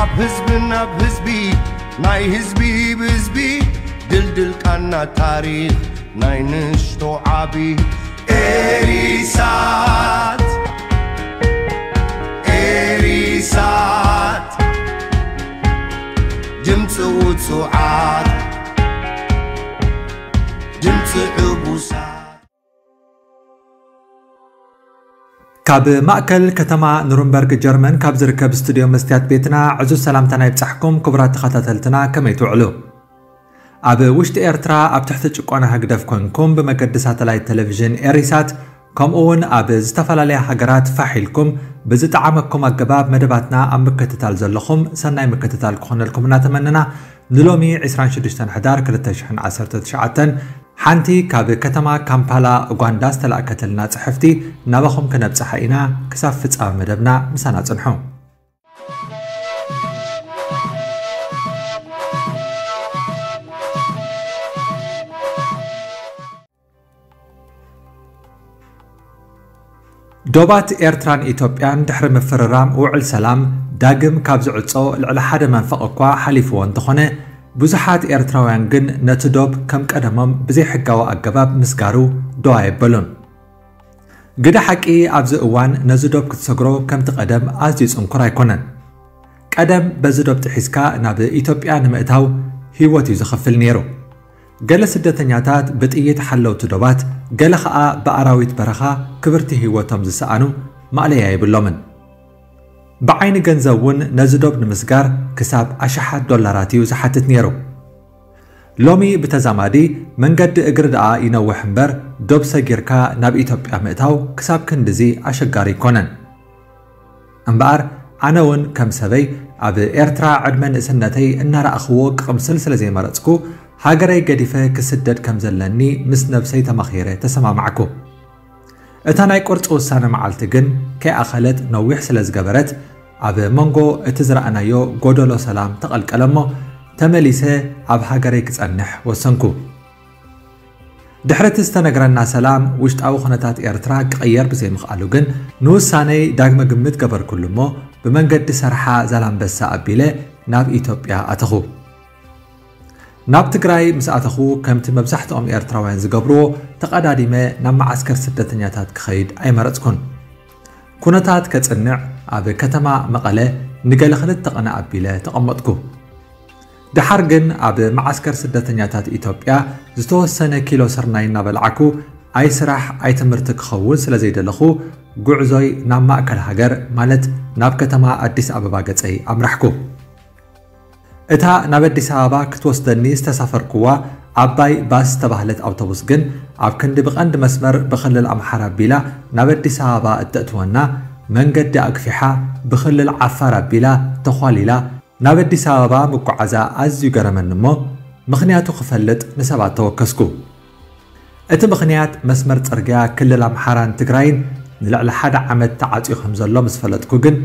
ኣብ ህዝቢ ናብ ህዝቢ ናይ ህዝቢ ብህዝቢ ድልድል ቃና ታሪኽ ናይ ንሽቶ ዓቢ ኤሪሳት ኤሪሳት ድምፂ ውፁዓት ድምፂ ዕቡሳት ካብ ማእከል ከተማ ኑርንበርግ ጀርመን ካብ ዝርከብ ስቱድዮ መስትያት ቤትና ዕዙዝ ሰላምታና ይብጻሕኩም። ክቡራት ተኸታተልትና ከመይ ትውዕሉ? ኣብ ውሽጢ ኤርትራ ኣብ ትሕቲ ጭቆና ህግደፍ ኮንኩም ብመገዲ ሳተላይት ቴሌቪዥን ኤሪሳት ከምኡ እውን ኣብ ዝተፈላለያ ሃገራት ፋሕ ኢልኩም ብዝጠዓመኩም ኣገባብ መደባትና ኣብ ምክትታል ዘለኹም ሰናይ ምክትታል ክኾነልኩም እናተመነና ንሎሚ ዕስራን ሽዱሽተን ሕዳር ክልተ ሽሕን ዓሰርተ ትሽዓተን ሓንቲ ካብ ከተማ ካምፓላ ኡጋንዳ ዝተላእከተልና ጽሕፍቲ ናባኹም ክነብጽሓ ኢና። ክሳብ ፍጻመ መደብና ምሳና ጽንሑ። ዶባት ኤርትራን ኢትዮጵያን ድሕሪ ምፍርራም ውዕል ሰላም ዳግም ካብ ዝዕጾ ልዕሊ ሓደ መንፈቕ እኳ ሓሊፍዎ እንተኾነ፣ ብዙሓት ኤርትራውያን ግን ነቲ ዶብ ከም ቀደሞም ብዘይሕጋዊ ኣገባብ ምስጋሩ ደው ኣየበሉን። ግደ ሓቂ ኣብዚ እዋን ነዚ ዶብ ክትሰግሮ ከምቲ ቀደም ኣዝዩ ጽንኩር ኣይኮነን። ቀደም በዚ ዶብ ጥሒስካ ናብ ኢትዮጵያ ንምእታው ህይወት እዩ ዘኸፍል ነይሩ። ገለ ስደተኛታት ብጥይት ሓለውቲ ዶባት፣ ገለ ኸኣ ብኣራዊት በረኻ ክብርቲ ህይወቶም ዝሰኣኑ ማእለያ የብሎምን። ብዓይኒ ገንዘብ እውን ነዚ ዶብ ንምስጋር ክሳብ ኣሽሓት ዶላራት እዩ ዝሓትት ነይሩ። ሎሚ ብተዛማዲ መንገዲ እግሪ ደኣ ይነውሕ እምበር ዶብ ሰጊርካ ናብ ኢትዮጵያ ምእታው ክሳብ ክንድዚ ኣሸጋሪ ኣይኮነን። እምበኣር ኣነ እውን ከም ሰበይ ኣብ ኤርትራ ዕድመ ንእስነተይ እናረኣኽዎ ክቕምስል ስለ ዘይመረጽኩ ሃገረይ ገዲፈ ክስደድ ከም ዘለኒ ምስ ነብሰይ ተማኺረ ተሰማማዕኩ። እታ ናይ ቁርጺ ውሳነ መዓልቲ ግን ከይኣኸለት ነዊሕ ስለ ዝገበረት ኣብ መንጎ እቲ ዝረኣናዮ ጎደሎ ሰላም ተቐልቀለ እሞ ተመሊሰ ኣብ ሃገረይ ክጸንሕ ወሰንኩ። ድሕሪ እቲ ዝተነግረና ሰላም ውሽጣዊ ኩነታት ኤርትራ ክቕየር ብዘይምኽኣሉ ግን ንውሳነይ ዳግመ ግምት ገበርኩሉ እሞ ብመንገዲ ሰርሓ ዛላምበሳ ኣቢለ ናብ ኢትዮጵያ ኣተኹ። ናብ ትግራይ ምስ ኣተኹ ከምቲ መብዛሕትኦም ኤርትራውያን ዝገብርዎ ተቐዳዲመ ናብ መዓስከር ስደተኛታት ክኸይድ ኣይመረጽኩን። ኩነታት ከጽንዕ ኣብ ከተማ መቐለ ንገለ ክልተ ቕነ ኣቢለ ተቐመጥኩ። ደሓር ግን ኣብ መዓስከር ስደተኛታት ኢትዮጵያ ዝተወሰነ ኪሎ ስርናይ እናበላዕኩ ኣይ ስራሕ ኣይ ትምህርቲ ክኸውን ስለ ዘይደለኹ ጉዕዞይ ናብ ማእከል ሃገር ማለት ናብ ከተማ ኣዲስ ኣበባ ገጸይ ኣምራሕኩ። እታ ናብ ኣዲስ ኣበባ ክትወስደኒ ዝተሳፈርኩዋ ዓባይ ባስ ዝተባህለት ኣውቶቡስ ግን ኣብ ክንዲ ብቐንዲ መስመር ብክልል ኣምሓራ ኣቢላ ናብ ኣዲስ ኣበባ እተእትወና መንገዲ ኣግፊሓ ብክልል ዓፋር ኣቢላ ተዃሊላ ናብ ኣዲስ ኣበባ ምጉዓዛ ኣዝዩ ገረመኒ እሞ ምኽንያቱ ክፈልጥ ንሰባት ተወከስኩ። እቲ ምኽንያት መስመር ጽርግያ ክልል ኣምሓራን ትግራይን ንልዕሊ ሓደ ዓመት ተዓጽዩ ከም ዘሎ ምስ ፈለጥኩ ግን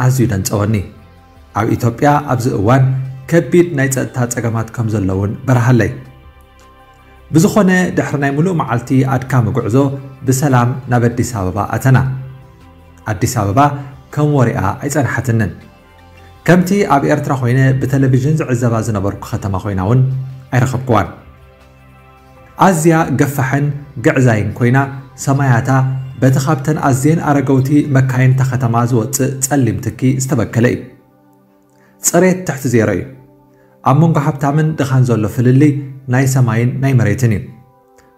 ኣዝዩ ደንጸወኒ። ኣብ ኢትዮጵያ ኣብዚ እዋን ከቢድ ናይ ጸጥታ ጸገማት ከም ዘሎ እውን በርሃለይ። ብዝኾነ ድሕሪ ናይ ምሉእ መዓልቲ ኣድካሚ ጉዕዞ ብሰላም ናብ ኣዲስ ኣበባ ኣተና። ኣዲስ ኣበባ ከም ወሬኣ ኣይጸንሓትንን። ከምቲ ኣብ ኤርትራ ኮይነ ብቴሌቪዥን ዝዕዘባ ዝነበርኩ ከተማ ኮይና እውን ኣይረኸብኩዋን። ኣዝያ ገፋሕን ግዕዛይን ኮይና ሰማያታ በቲ ካብተን ኣዝየን ኣረገውቲ መካይን እታ ከተማ ዝወጽእ ጸሊም ትኪ ዝተበከለ እዩ። ጽሬት ትሕቲ ዜሮ እዩ። ኣብ መንጎ ሃብታምን ድኻን ዘሎ ፍልልይ ናይ ሰማይን ናይ መሬትን እዩ።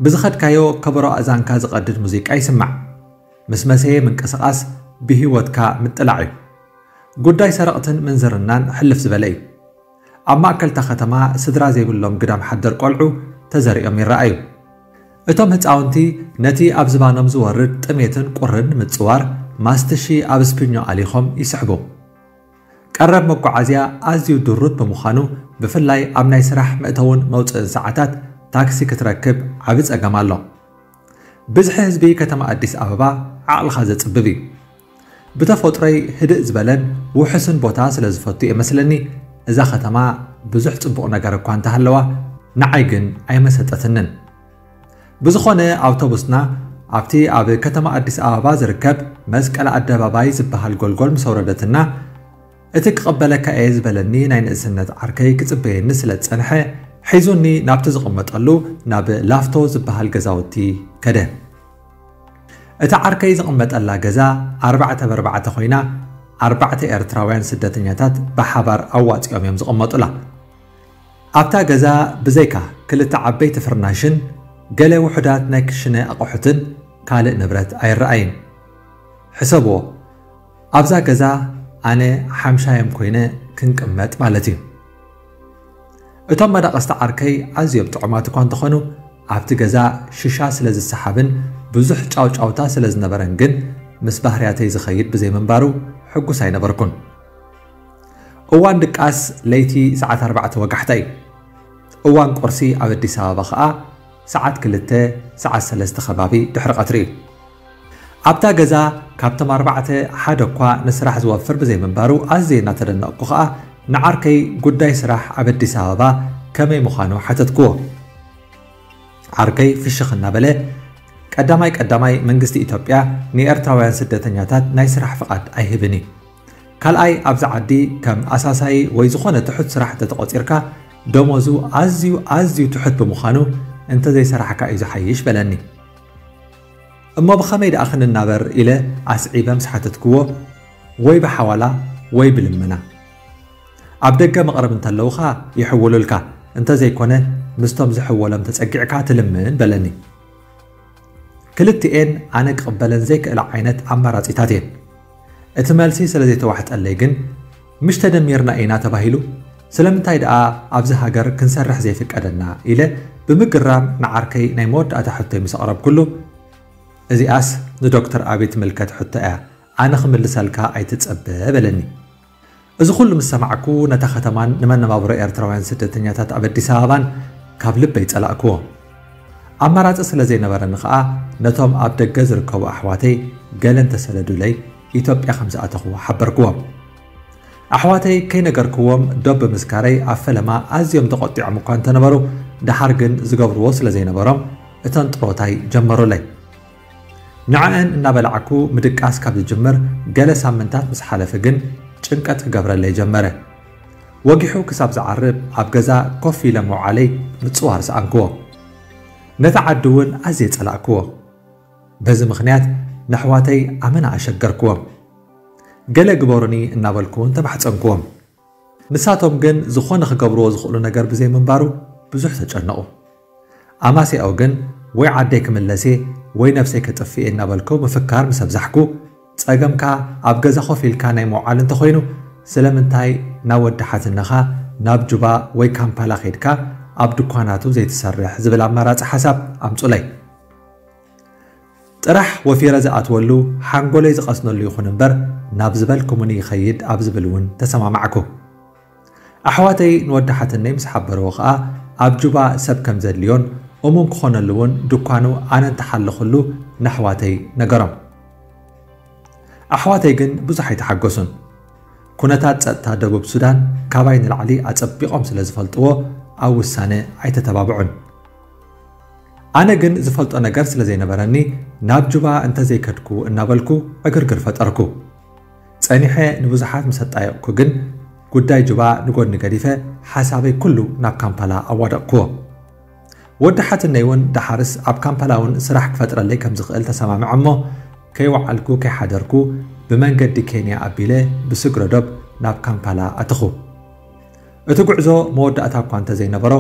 ብዝኸድካዮ ከበሮ ኣእዛንካ ዝቐድድ ሙዚቃ ይስማዕ። ምስ መሰየ ምንቅስቓስ ብህይወትካ ምጥላዕ እዩ። ጉዳይ ሰረቕትን ምንዝርናን ሕልፍ ዝበለ እዩ። ኣብ ማእከልታ ከተማ ስድራ ዘይብሎም ግዳም ሓደር ቆልዑ ተዘሪኦም ይረኣዩ። እቶም ህጻውንቲ ነቲ ኣብ ዝባኖም ዝወርድ ጥሜትን ቁርን ንምጽዋር ማስትሺ ኣብ ስፒኞ ኣሊኾም ይስሕቡ። ቀረብ መጓዓዝያ ኣዝዩ ድሩት ብምዃኑ ብፍላይ ኣብ ናይ ስራሕ መእተውን መውጽእን ሰዓታት ታክሲ ክትረክብ ዓቢ ጸገም ኣሎ። ብዝሒ ህዝቢ ከተማ ኣዲስ ኣበባ ዓቕልኻ ዘጽብብ እዩ። ብተፈጥሮይ ህድእ ዝበለን ውሑስን ቦታ ስለ ዝፈቱ እየ መስለኒ እዛ ከተማ ብዙሕ ጽቡቕ ነገር እኳ እንተሃለዋ ንዓይ ግን ኣይመሰጠትንን። ብዝኾነ ኣውቶቡስና ኣብቲ ኣብ ከተማ ኣዲስ ኣበባ ዝርከብ መስቀል ኣደባባይ ዝበሃል ጎልጎል ምስ ኣውረደትና እቲ ክቕበለካ እየ ዝበለኒ ናይ ንእስነት ዓርከይ ክጽበየኒ ስለ ዝጸንሐ፣ ሒዙኒ ናብቲ ዝቕመጠሉ ናብ ላፍቶ ዝበሃል ገዛውቲ ከደ። እቲ ዓርከይ ዝቕመጠላ ገዛ ኣርባዕተ ብኣርባዕተ ኮይና፣ ኣርባዕተ ኤርትራውያን ስደተኛታት ብሓባር ኣዋጺኦም እዮም ዝቕመጡላ። ኣብታ ገዛ ብዘይካ ክልተ ዓበይቲ ፍርናሽን ገለ ውሑዳት ናይ ክሽነ ኣቑሑትን ካልእ ንብረት ኣይረኣይን። ሕሰብዎ፣ ኣብዛ ገዛ ኣነ ሓምሻዮም ኮይነ ክንቅመጥ ማለት እዩ። እቶም መዳቕስቲ ዓርከይ ኣዝዮም ጥዑማት እኳ እንተኾኑ፣ ኣብቲ ገዛ ሽሻ ስለ ዝሰሓብን ብዙሕ ጫውጫውታ ስለ ዝነበረን ግን፣ ምስ ባህርያተይ ዝኸይድ ብዘይምንባሩ ሕጉስ ኣይነበርኩን። እዋን ድቃስ ለይቲ ሰዓት ኣርባዕተ ወጋሕታ እዩ። እዋን ቁርሲ ኣብ ኣዲስ ኣበባ ኸኣ ሰዓት ክልተ፣ ሰዓት ሰለስተ ከባቢ ድሕሪ ቀትሪ እዩ። ኣብታ ገዛ ካብቶም ኣርባዕተ ሓደ እኳ ንስራሕ ዝወፍር ብዘይምንባሩ ኣዝየ እናተደነቕኩ ኸኣ ንዓርከይ ጉዳይ ስራሕ ኣብ ኣዲስ ኣበባ ከመይ ምዃኑ ሓተትክዎ። ዓርከይ ፍሽኽ እናበለ፣ ቀዳማይ ቀዳማይ መንግስቲ ኢትዮጵያ ንኤርትራውያን ስደተኛታት ናይ ስራሕ ፍቓድ ኣይህብን እዩ። ካልኣይ ኣብዚ ዓዲ ከም ኣሳሳይ ወይ ዝኾነ ትሑት ስራሕ እንተተቖጺርካ ደሞዙ ኣዝዩ ኣዝዩ ትሑት ብምዃኑ እንተዘይሰራሕካ እዩ ዝሓይሽ በለኒ። እሞ ብኸመይ ደኣ ክንናበር ኢለ ኣስዒበ ምስ ሓተትክዎ፣ ወይ ብሓዋላ ወይ ብልመና። ኣብ ደገ መቕረብ እንተለውኻ ይሕውሉልካ፣ እንተዘይኮነ ምስቶም ዝሕወሎም ተጸጊዕካ ትልምን በለኒ። ክልቲኤን ኣነ ክቕበለን ዘይክእላ ዓይነት ኣማራጺታት እየን። እቲ መልሲ ስለ ዘይተዋሕጠለይ ግን፣ ምሽ ተደሚርና ኢና ተባሂሉ፣ ስለምንታይ ደኣ ኣብዚ ሃገር ክንሰርሕ ዘይፍቀደና ኢለ ብምግራም ንዓርከይ ናይ መወዳእታ ሕቶይ ምስ ኣቕረብኩሉ፣ እዚኣስ ንዶክተር ኣቢይ ትምልከት ሕቶ እያ፣ ኣነ ክምልሰልካ ኣይትጸበ በለኒ። እዚ ኩሉ ምስ ሰማዕኩ ነታ ከተማን ንመነባብሮ ኤርትራውያን ስደተኛታት ኣብ ኣዲስ ኣበባን ካብ ልበይ ጸላእክዎ። ኣማራጺ ስለ ዘይነበረኒ ኸኣ ነቶም ኣብ ደገ ዝርከቡ ኣሕዋተይ ገለ እንተሰደዱለይ ኢትዮጵያ ከም ዝኣተኹ ሓበርክዎም። ኣሕዋተይ ከይነገርክዎም ዶብ ብምስካረይ ኣብ ፈለማ ኣዝዮም ተቖጢዖም እኳ እንተነበሩ፣ ደሓር ግን ዝገብርዎ ስለ ዘይነበሮም እተን ጥሮታይ ጀመሩለይ። ንዕአን እናበላዕኩ ምድቃስ ካብ ዝጅምር ገለ ሳምንታት ምስ ሓለፈ ግን ጭንቀት ክገብረለይ ጀመረ። ወጊሑ ክሳብ ዝዓርብ ኣብ ገዛ ኮፍ ኢለ ምውዓለይ ምጽዋር ሰኣንክዎ። ነቲ ዓዲ እውን ኣዝየ ጸላእክዎ። በዚ ምኽንያት ነሕዋተይ ኣመና ኣሸገርክዎም። ገለ ግበሩኒ እናበልኩ እውን ተማሕጸንክዎም። ንሳቶም ግን ዝኾነ ክገብርዎ ዝኽእሉ ነገር ብዘይምንባሩ ብዙሕ ተጨነቑ። ኣማሲያኡ ግን ወይ ዓደይ ክምለስ እየ ወይ ነብሰይ ከጥፍእ እየ እናበልኩ ምፍካር ምስ ኣብዛሕኩ፣ ጸገምካ ኣብ ገዛ ኮፍ ኢልካ ናይ ምውዓል እንተኾይኑ፣ ስለምንታይ ናብ ወዲ ሓትነኻ ናብ ጁባ ወይ ካምፓላ ኸይድካ ኣብ ድኳናቱ ዘይትሰርሕ ዝብል ኣማራጺ ሓሳብ ኣምጹለይ። ጥራሕ ወፊረ ዝኣትወሉ ሓንጎለይ ዝቐስነሉ ይኹን እምበር፣ ናብ ዝበልኩምኒ ይኸይድ ኣብ ዝብል እውን ተሰማማዕኩ። ኣሕዋተይ ንወዲ ሓትነይ ምስ ሓበርዎ ኸኣ፣ ኣብ ጁባ ሰብ ከም ዘድልዮን እሙን ክኾነሉ እውን ድኳኑ ኣነ እንተሓለኹሉ ነሕዋተይ ነገሮም። ኣሕዋተይ ግን ብዙሕ ኣይተሓገሱን። ኩነታት ጸጥታ ደቡብ ሱዳን ካባይ ንላዕሊ ኣጸቢቖም ስለ ዝፈልጥዎ ኣብ ውሳነ ኣይተተባብዑን። ኣነ ግን ዝፈልጦ ነገር ስለ ዘይነበረኒ ናብ ጁባ እንተዘይከድኩ እናበልኩ ዕግርግር ፈጠርኩ። ጸኒሐ ንብዙሓት ምስ ኣጣየቕኩ ግን ጉዳይ ጁባ ንጎኒ ገዲፈ ሓሳበይ ኩሉ ናብ ካምፓላ ኣዋደቕክዎ። ወዲ ሓትነይ እውን ደሓርስ ኣብ ካምፓላ እውን ስራሕ ክፈጥረለይ ከም ዝኽእል ተሰማምዐ እሞ ከይወዓልኩ ከይሓደርኩ ብመንገዲ ኬንያ ኣቢለ ብስግረ ዶብ ናብ ካምፓላ ኣተኹ። እቲ ጉዕዞ መወዳእታ እኳ እንተዘይነበሮ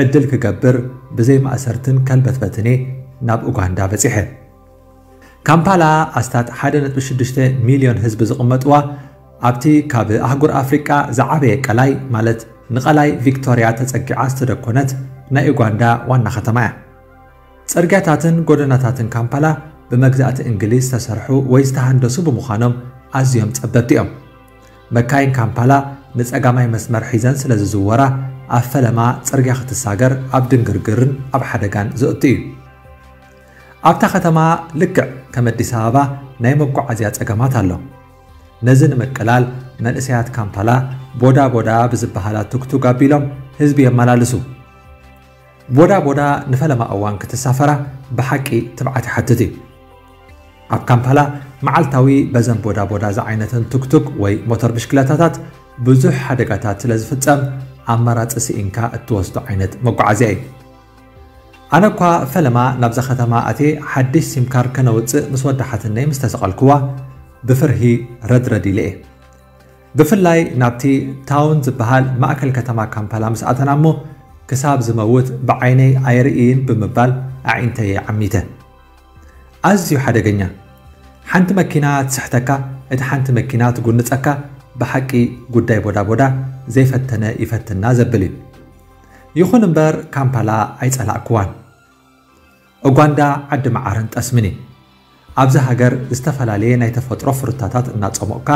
ዕድል ክገብር ብዘይ ማእሰርትን ከልበትበትን እየ ናብ ኡጋንዳ በጺሐ። ካምፓላ ኣስታት ሓደ ነጥቢ ሽዱሽተ ሚልዮን ህዝቢ ዝቕመጥዋ ኣብቲ ካብ ኣህጉር ኣፍሪቃ ዝዓበየ ቀላይ ማለት ንቐላይ ቪክቶርያ ተጸጊዓ ዝተደኮነት ናይ ኡጋንዳ ዋና ከተማ እያ። ጽርግያታትን ጎደናታትን ካምፓላ ብመግዛእቲ እንግሊዝ ዝተሰርሑ ወይ ዝተሃንደሱ ብምዃኖም ኣዝዮም ጸበብቲ እዮም። መካይን ካምፓላ ንጸጋማይ መስመር ሒዘን ስለ ዝዝወራ ኣብ ፈለማ ጽርግያ ክትሳገር ኣብ ድንግርግርን ኣብ ሓደጋን ዘእቱ እዩ። ኣብታ ከተማ ልክዕ ከም ኣዲስ ኣበባ ናይ መጓዓዝያ ጸገማት ኣሎ። ነዚ ንምቅላል መንእሰያት ካምፓላ ቦዳ ቦዳ ብዝበሃላ ቱክቱክ ኣቢሎም ህዝቢ የመላልሱ። ቦዳ ቦዳ ንፈለማ እዋን ክትሳፈራ ብሓቂ ትብዓት ይሓትት እዩ። ኣብ ካምፓላ መዓልታዊ በዘን ቦዳ ቦዳ ዝዓይነተን ቱክቱክ ወይ ሞተር ብሽክለታታት ብዙሕ ሓደጋታት ስለ ዝፍጸም፣ ኣማራጺ ስኢንካ እትወስዶ ዓይነት መጓዓዝያ እዩ። ኣነ እኳ ፈለማ ናብዛ ከተማ ኣትየ ሓድሽ ሲም ካርድ ከነውጽእ ምስ ወዳሓትነይ ምስ ተሰቐልክዋ፣ ብፍርሂ ረድረድ ኢለ እየ። ብፍላይ ናብቲ ታውን ዝበሃል ማእከል ከተማ ካምፓላ ምስ ኣተና እሞ፣ ክሳብ ዝመውት ብዓይነይ ኣይርእይን ብምባል ኣዒንተይ እየ ዓሚተ። ኣዝዩ ሓደገኛ። ሓንቲ መኪና ትስሕተካ፣ እቲ ሓንቲ መኪና ትጉንጸካ፣ ብሓቂ ጉዳይ ቦዳ ቦዳ ዘይፈተነ ይፈትና ዘብል እዩ። ይኹን እምበር ካምፓላ ኣይጸላእክዋን። ኡጋንዳ ዓዲ መዓርን ጠስምን እዩ። ኣብዚ ሃገር ዝተፈላለየ ናይ ተፈጥሮ ፍሩታታት እናጸሞቕካ፣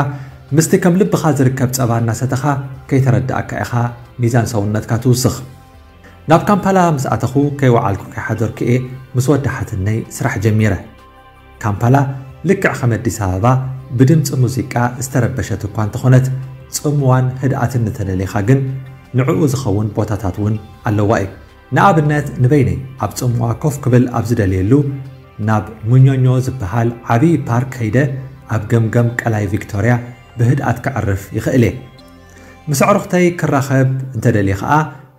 ምስቲ ከም ልብኻ ዝርከብ ጸባ እናሰተኻ ከይተረዳእካ ኢኻ ሚዛን ሰውነትካ ትውስኽ። ናብ ካምፓላ ምስ ኣተኹ ከይወዓልኩ ከይሓደርኩ እየ ምስ ወዳሓትነይ ስራሕ ጀሚረ። ካምፓላ ልክዕ ከም ኣዲስ ኣበባ ብድምፂ ሙዚቃ ዝተረበሸት እኳ እንተኾነት፣ ጽምዋን ህድኣትን እንተደሊኻ ግን ንዕኡ ዝኸውን ቦታታት እውን ኣለዋ እዩ። ንኣብነት ንበይነይ ኣብ ጽምዋ ኮፍ ክብል ኣብ ዝደልየሉ ናብ ሙኞኞ ዝበሃል ዓብዪ ፓርክ ከይደ ኣብ ገምገም ቀላይ ቪክቶርያ ብህድኣት ከዕርፍ ይኽእል እየ። ምስ ኣዕሩኽተይ ክራኸብ እንተደልየ ኸኣ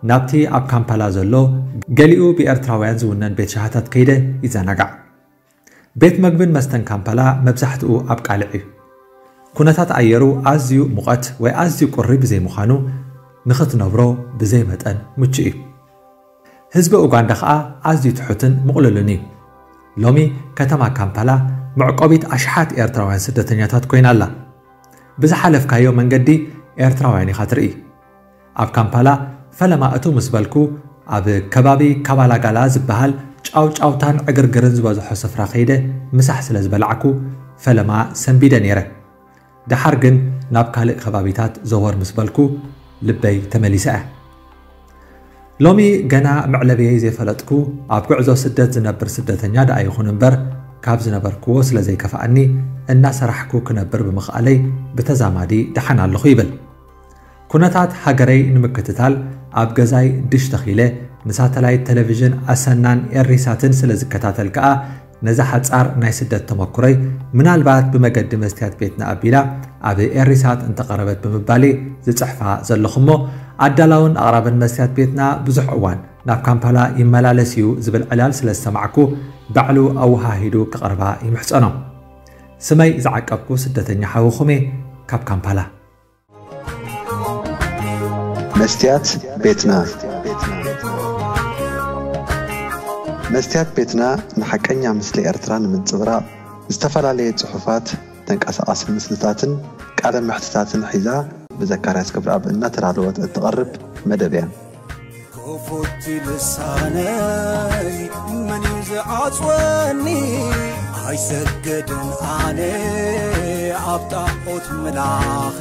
ናብቲ ኣብ ካምፓላ ዘሎ ገሊኡ ብኤርትራውያን ዝውነን ቤት ሻሃታት ከይደ ይዘናጋዕ። ቤት መግብን መስተን ካምፓላ መብዛሕትኡ ኣብ ቃልዕ እዩ። ኩነታት ኣየሩ ኣዝዩ ሙቐት ወይ ኣዝዩ ቁሪ ብዘይምዃኑ ንኽትነብሮ ብዘይ መጠን ምቹእ እዩ። ህዝቢ ኡጋንዳ ኸኣ ኣዝዩ ትሑትን ምቕሉልን እዩ። ሎሚ ከተማ ካምፓላ መዕቆቢት ኣሽሓት ኤርትራውያን ስደተኛታት ኮይና ኣላ። ብዝሓለፍካዮ መንገዲ ኤርትራውያን ኢኻ ትርኢ። ኣብ ካምፓላ ፈለማ እቱ ምስ በልኩ፣ ኣብ ከባቢ ካባላጋላ ዝበሃል ጫውጫውታን ዕግርግርን ዝበዝሖ ስፍራ ከይደ ምሳሕ ስለ ዝበላዕኩ ፈለማ ሰንቢደ ነይረ። ደሓር ግን ናብ ካልእ ከባቢታት ዘወር ምስ በልኩ ልበይ ተመሊሳ እያ። ሎሚ ገና መዕለብየይ ዘይፈለጥኩ ኣብ ጉዕዞ ስደት ዝነብር ስደተኛ ደኣ ይኹን እምበር፣ ካብ ዝነበርክዎ ስለ ዘይከፍኣኒ እናሰራሕኩ ክነብር ብምኽኣለይ ብተዛማዲ ደሓን ኣለኹ ይብል። ኩነታት ሃገረይ ንምክትታል ኣብ ገዛይ ድሽ ተኺለ ንሳተላይት ቴሌቪዥን ኣሰናን ኤሪሳትን ስለ ዝከታተል ከኣ ነዛ ሓጻር ናይ ስደት ተመኩሮይ ምናልባት ብመገዲ መስትያት ቤትና ኣቢላ ኣብ ኤሪሳት እንተቐረበት ብምባል ዝጽሕፋ ዘለኹ እሞ ኣዳላውን ኣቕራብን መስትያት ቤትና ብዙሕ እዋን ናብ ካምፓላ ይመላለስ እዩ ዝብል ዕላል ስለ ዝሰማዕኩ ባዕሉ ኣወሃሂዱ ክቐርባ ይምሕጸኖ። ስመይ ዝዓቀብኩ ስደተኛ ሓውኹም እየ ካብ ካምፓላ። መስትያት ቤትና። መስትያት ቤትና ንሓቀኛ ምስሊ ኤርትራ ንምንጽብራቕ ዝተፈላለየ ጽሑፋት፣ ተንቀሳቓሲ ምስልታትን ቃለ መሕትታትን ሒዛ ብዘካርያስ ክብረኣብ እናተዳለወት እትቐርብ መደብ እያ። ክፉት ልሳነይ መን እዩ ዝዓጽወኒ? ኣይሰግድን ኣነ ኣብ ጣዖት ምላኺ፣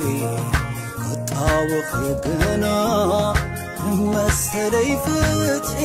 ክጣወኺ ግና መሰለይ ፍትሒ።